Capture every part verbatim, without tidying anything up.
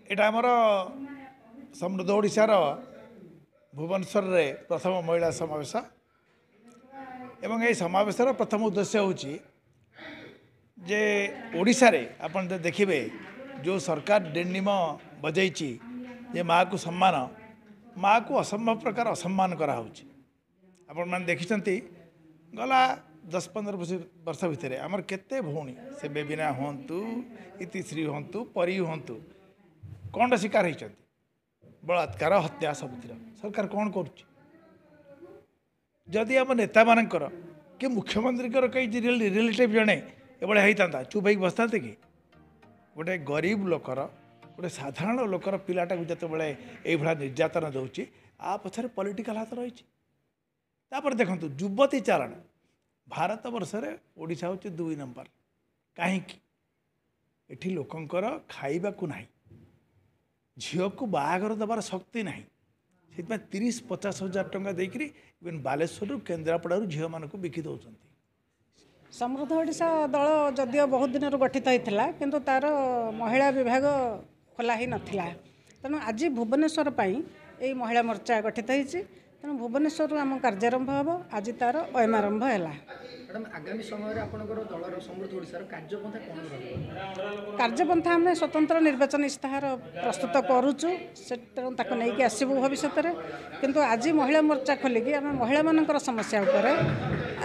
ଏଇଟା ଆମର ସମୃଦ୍ଧ ଓଡ଼ିଶାର ଭୁବନେଶ୍ୱରରେ ପ୍ରଥମ ମହିଳା ସମାବେଶ ଏବଂ ଏହି ସମାବେଶର ପ୍ରଥମ ଉଦ୍ଦେଶ୍ୟ ହେଉଛି ଯେ ଓଡ଼ିଶାରେ ଆପଣ ଯଦି ଦେଖିବେ ଯେଉଁ ସରକାର ଡିଣ୍ଡିମ ବଜେଇଛି ଯେ ମାଆକୁ ସମ୍ମାନ ମାଆକୁ ଅସମ୍ଭବ ପ୍ରକାର ଅସମ୍ମାନ କରାହେଉଛି ଆପଣମାନେ ଦେଖିଛନ୍ତି ଗଲା ଦଶ ପନ୍ଦର ବର୍ଷ ଭିତରେ ଆମର କେତେ ଭଉଣୀ ସେ ବେବିନା ହୁଅନ୍ତୁ ଇତିଶ୍ରୀ ହୁଅନ୍ତୁ ପରୀ ହୁଅନ୍ତୁ କ'ଣଟା ଶିକାର ହେଇଛନ୍ତି ବଳାତ୍କାର ହତ୍ୟା ସବୁଥିର ସରକାର କ'ଣ କରୁଛି ଯଦି ଆମ ନେତାମାନଙ୍କର କି ମୁଖ୍ୟମନ୍ତ୍ରୀଙ୍କର କେହି ରିଲେଟିଭ୍ ଜଣେ ଏଭଳିଆ ହେଇଥାନ୍ତା ଚୁପ୍ ହେଇକି ବସିଥାନ୍ତେ କି ଗୋଟେ ଗରିବ ଲୋକର ଗୋଟେ ସାଧାରଣ ଲୋକର ପିଲାଟାକୁ ଯେତେବେଳେ ଏଇଭଳିଆ ନିର୍ଯାତନା ଦେଉଛି ଆ ପଛରେ ପଲିଟିକାଲ ହାତ ରହିଛି ତାପରେ ଦେଖନ୍ତୁ ଯୁବତୀ ଚାଲାଣ ଭାରତ ବର୍ଷରେ ଓଡ଼ିଶା ହେଉଛି ଦୁଇ ନମ୍ବର କାହିଁକି ଏଠି ଲୋକଙ୍କର ଖାଇବାକୁ ନାହିଁ ଝିଅକୁ ବାହାଘର ଦେବାର ଶକ୍ତି ନାହିଁ ସେଥିପାଇଁ ତିରିଶ ପଚାଶ ହଜାର ଟଙ୍କା ଦେଇକରି ଇଭେନ୍ ବାଲେଶ୍ୱରରୁ କେନ୍ଦ୍ରାପଡ଼ାରୁ ଝିଅମାନଙ୍କୁ ବିକି ଦେଉଛନ୍ତି ସମୃଦ୍ଧ ଓଡ଼ିଶା ଦଳ ଯଦିଓ ବହୁତ ଦିନରୁ ଗଠିତ ହୋଇଥିଲା କିନ୍ତୁ ତା'ର ମହିଳା ବିଭାଗ ଖୋଲା ହୋଇନଥିଲା ତେଣୁ ଆଜି ଭୁବନେଶ୍ୱର ପାଇଁ ଏଇ ମହିଳା ମୋର୍ଚ୍ଚା ଗଠିତ ହୋଇଛି ତେଣୁ ଭୁବନେଶ୍ୱରରୁ ଆମ କାର୍ଯ୍ୟାରମ୍ଭ ହେବ ଆଜି ତା'ର ଅୟମାରମ୍ଭ ହେଲା ମ୍ୟାଡ଼ାମ୍ ଆଗାମୀ ସମୟରେ ଆପଣଙ୍କର ଦଳର ସମୃଦ୍ଧ ଓଡ଼ିଶାର କାର୍ଯ୍ୟପନ୍ଥା କ'ଣ ରହିବ କାର୍ଯ୍ୟପନ୍ଥା ଆମେ ସ୍ୱତନ୍ତ୍ର ନିର୍ବାଚନ ଇସ୍ତାହାର ପ୍ରସ୍ତୁତ କରୁଛୁ ସେ ତେଣୁ ତାକୁ ନେଇକି ଆସିବୁ ଭବିଷ୍ୟତରେ କିନ୍ତୁ ଆଜି ମହିଳା ମୋର୍ଚ୍ଚା ଖୋଲିକି ଆମେ ମହିଳାମାନଙ୍କର ସମସ୍ୟା ଉପରେ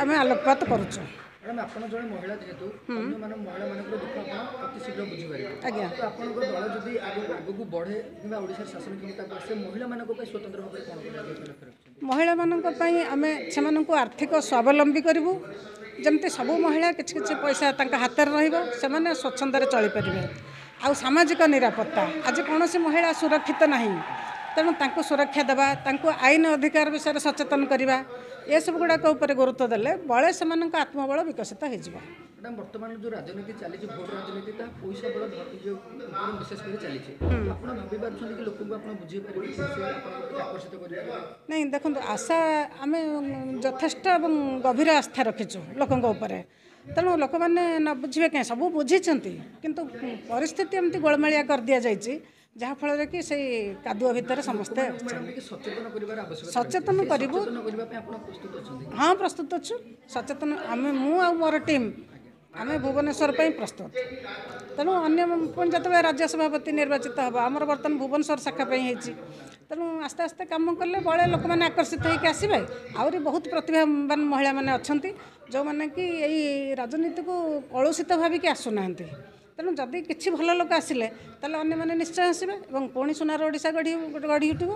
ଆମେ ଆଲୋକପାତ କରୁଛୁ ମ୍ୟାଡ଼ାମ୍ ଆପଣ ଜଣେ ମହିଳା ଯେହେତୁ ଅନ୍ୟମାନ ମହିଳାମାନଙ୍କର ଦୁଃଖ ଆପଣ ଅତି ଶୀଘ୍ର ବୁଝିପାରିବେ ଆଜ୍ଞା ତ ଆପଣଙ୍କ ଦଳ ଯଦି ଆଗକୁ ଆଗକୁ ବଢ଼େ କିମ୍ବା ଓଡ଼ିଶାର ଶାସନ କ୍ଷମତାକୁ ଆସେ ମହିଳାମାନଙ୍କ ପାଇଁ ସ୍ୱତନ୍ତ୍ର ଭାବରେ କ'ଣ କରାଯିବ ଲକ୍ଷ୍ୟ ରଖିଛନ୍ତି ମହିଳାମାନଙ୍କ ପାଇଁ ଆମେ ସେମାନଙ୍କୁ ଆର୍ଥିକ ସ୍ୱାବଲମ୍ବୀ କରିବୁ ଯେମିତି ସବୁ ମହିଳା କିଛି କିଛି ପଇସା ତାଙ୍କ ହାତରେ ରହିବ ସେମାନେ ସ୍ୱଚ୍ଛନ୍ଦରେ ଚଳିପାରିବେ ଆଉ ସାମାଜିକ ନିରାପତ୍ତା ଆଜି କୌଣସି ମହିଳା ସୁରକ୍ଷିତ ନାହିଁ ତେଣୁ ତାଙ୍କୁ ସୁରକ୍ଷା ଦେବା ତାଙ୍କୁ ଆଇନ ଅଧିକାର ବିଷୟରେ ସଚେତନ କରିବା ଏସବୁ ଗୁଡ଼ାକ ଉପରେ ଗୁରୁତ୍ୱ ଦେଲେ ବଳେ ସେମାନଙ୍କ ଆତ୍ମବଳ ବିକଶିତ ହେଇଯିବ ମ୍ୟାଡ଼ାମ୍ ବର୍ତ୍ତମାନ ଯେଉଁ ରାଜନୀତି ଚାଲିଛି ଭୋଟ ରାଜନୀତି ତାହା ପଇସା ବଳ ଯେଉଁ ଉପରେ ବିଶେଷ କରି ଚାଲିଛି ଆପଣ ଭାବି ପାରୁଛନ୍ତି କି ଲୋକଙ୍କୁ ଆପଣ ବୁଝେଇ ପାରିବେ ସେ ଆପଣଙ୍କ ପ୍ରତି ଆକର୍ଷିତ କରିପାରିବେ ନାଇଁ ଦେଖନ୍ତୁ ଆଶା ଆମେ ଯଥେଷ୍ଟ ଏବଂ ଗଭୀର ଆସ୍ଥା ରଖିଛୁ ଲୋକଙ୍କ ଉପରେ ତେଣୁ ଲୋକମାନେ ନ ବୁଝିବେ କାହିଁ ସବୁ ବୁଝିଛନ୍ତି କିନ୍ତୁ ପରିସ୍ଥିତି ଏମିତି ଗୋଳମାଳିଆ କରିଦିଆଯାଇଛି ଯାହାଫଳରେ କି ସେଇ କାଦୁଅ ଭିତରେ ସମସ୍ତେ ଅଛନ୍ତି ମ୍ୟାଡ଼ାମ୍ ଟିକେ ସଚେତନ କରିବାର ଆବଶ୍ୟକତା ସଚେତନ ରହିଛି। କରିବୁ ସଚେତନ କରିବା ପାଇଁ ଆପଣ ପ୍ରସ୍ତୁତ ଅଛନ୍ତି ହଁ ପ୍ରସ୍ତୁତ ଅଛୁ ସଚେତନ ଆମେ ମୁଁ ଆଉ ମୋର ଟିମ୍ ଆମେ ଭୁବନେଶ୍ୱର ପାଇଁ ପ୍ରସ୍ତୁତ ତେଣୁ ଅନ୍ୟ ପୁଣି ଯେତେବେଳେ ରାଜ୍ୟ ସଭାପତି ନିର୍ବାଚିତ ହେବ ଆମର ବର୍ତ୍ତମାନ ଭୁବନେଶ୍ୱର ଶାଖା ପାଇଁ ହେଇଛି ତେଣୁ ଆସ୍ତେ ଆସ୍ତେ କାମ କଲେ ବଳେ ଲୋକମାନେ ଆକର୍ଷିତ ହେଇକି ଆସିବେ ଆହୁରି ବହୁତ ପ୍ରତିଭାବାନ ମହିଳାମାନେ ଅଛନ୍ତି ଯେଉଁମାନେ କି ଏଇ ରାଜନୀତିକୁ କଳୁଷିତ ଭାବିକି ଆସୁନାହାନ୍ତି ତେଣୁ ଯଦି କିଛି ଭଲ ଲୋକ ଆସିଲେ ତାହେଲେ ଅନ୍ୟମାନେ ନିଶ୍ଚୟ ଆସିବେ ଏବଂ ପୁଣି ସୁନାର ଓଡ଼ିଶା ଗଢ଼ି ଗଢ଼ି ଉଠିବ